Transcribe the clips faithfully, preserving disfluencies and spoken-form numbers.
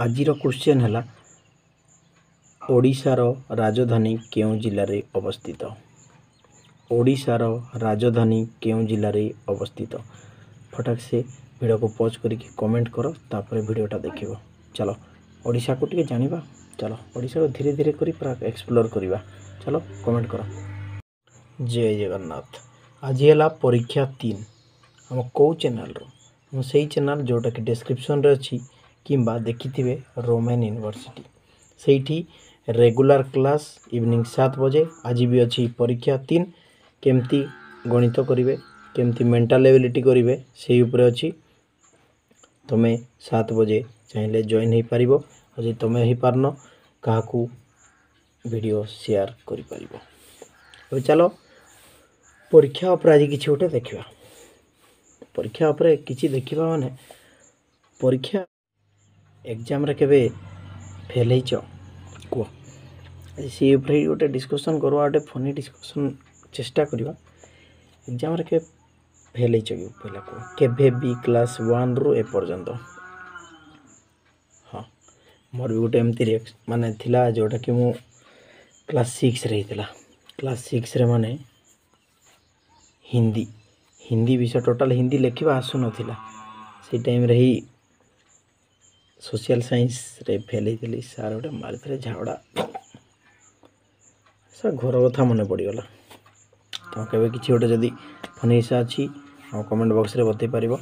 ଆଜିର କ୍ୱେଶ୍ଚନ୍ ହେଲା ଓଡ଼ିଶାର ରାଜଧାନୀ କେଉଁ ଜିଲ୍ଲାରେ ଅବସ୍ଥିତ ଓଡ଼ିଶାର ରାଜଧାନୀ କେଉଁ ଜିଲ୍ଲାରେ ଅବସ୍ଥିତ ଫଟାକ ସେ ଭିଡ଼ିଓକୁ ପଜ୍ କରିକି କମେଣ୍ଟ କର ତାପରେ ଭିଡ଼ିଓଟା ଦେଖିବ ଚାଲ ଓଡ଼ିଶାକୁ ଟିକେ ଜାଣିବା ଚାଲ ଓଡ଼ିଶାକୁ ଧୀରେ ଧୀରେ କରି ପୁରା ଏକ୍ସପ୍ଲୋର୍ କରିବା ଚାଲ କମେଣ୍ଟ କର ଜୟ ଜଗନ୍ନାଥ ଆଜି ହେଲା ପରୀକ୍ଷା ତିନି ଆମ କେଉଁ ଚ୍ୟାନେଲ୍ର ଆମ ସେଇ ଚ୍ୟାନେଲ୍ ଯେଉଁଟାକି ଡେସ୍କ୍ରିପସନ୍ରେ ଅଛି କିମ୍ବା ଦେଖିଥିବେ ରୋମେନ୍ ୟୁନିଭର୍ସିଟି ସେଇଠି ରେଗୁଲାର କ୍ଲାସ୍ ଇଭିନିଂ ସାତ ବଜେ ଆଜି ବି ଅଛି ପରୀକ୍ଷା ତିନି କେମିତି ଗଣିତ କରିବେ କେମିତି ମେଣ୍ଟାଲ୍ ଏବିଲିଟି କରିବେ ସେଇ ଉପରେ ଅଛି ତୁମେ ସାତ ବଜେ ଚାହିଁଲେ ଜଏନ୍ ହେଇପାରିବ ଆଉ ଯଦି ତୁମେ ହେଇପାରୁନ କାହାକୁ ଭିଡ଼ିଓ ସେୟାର କରିପାରିବ ଏବେ ଚାଲ ପରୀକ୍ଷା ଉପରେ ଆଜି କିଛି ଗୋଟେ ଦେଖିବା ପରୀକ୍ଷା ଉପରେ କିଛି ଦେଖିବା ମାନେ ପରୀକ୍ଷା ଏକ୍ଜାମ୍ରେ କେବେ ଫେଲ୍ ହେଇଛ କୁହ ଆଜି ସେଇ ଉପରେ ଗୋଟେ ଡିସ୍କସନ୍ କରିବା ଗୋଟେ ଫନି ଡିସ୍କସନ୍ ଚେଷ୍ଟା କରିବା ଏକ୍ଜାମ୍ରେ କେବେ ଫେଲ୍ ହେଇଛ କି ପହିଲା କୁହ କେବେ ବି କ୍ଲାସ୍ ୱାନ୍ରୁ ଏପର୍ଯ୍ୟନ୍ତ ହଁ ମୋର ବି ଗୋଟେ ଏମିତି ମାନେ ଥିଲା ଯେଉଁଟାକି ମୁଁ କ୍ଲାସ୍ ସିକ୍ସରେ ହେଇଥିଲା କ୍ଲାସ୍ ସିକ୍ସରେ ମାନେ ହିନ୍ଦୀ ହିନ୍ଦୀ ବିଷୟ ଟୋଟାଲ୍ ହିନ୍ଦୀ ଲେଖିବା ଆସୁନଥିଲା ସେଇ ଟାଇମ୍ରେ ହିଁ ସୋସିଆଲ୍ ସାଇନ୍ସରେ ଫେଲ୍ ହେଇଥିଲି ସାର୍ ଗୋଟେ ମାରିଥିଲେ ଝାବଡ଼ା ସାର୍ ଘର କଥା ମନେ ପଡ଼ିଗଲା ତ କେବେ କିଛି ଗୋଟେ ଯଦି ଫନି ହିସା ଅଛି ଆମ କମେଣ୍ଟ ବକ୍ସରେ ବତେଇ ପାରିବ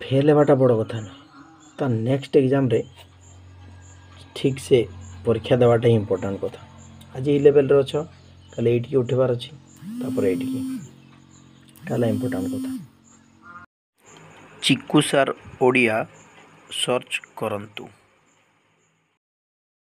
ଫେଲ୍ ହେବାଟା ବଡ଼ କଥା ନୁହେଁ ତା ନେକ୍ସଟ ଏକ୍ଜାମ୍ରେ ଠିକ୍ ସେ ପରୀକ୍ଷା ଦେବାଟା ହିଁ ଇମ୍ପୋର୍ଟାଣ୍ଟ କଥା ଆଜି ଏଇ ଲେଭେଲରେ ଅଛ କାଲି ଏଇଠିକି ଉଠିବାର ଅଛି ତାପରେ ଏଇଠିକି ଏଟା ହେଲା ଇମ୍ପୋର୍ଟାଣ୍ଟ କଥା ଚିକୁ ସାର୍ ଓଡ଼ିଆ ସର୍ଚ୍ଚ କରନ୍ତୁ।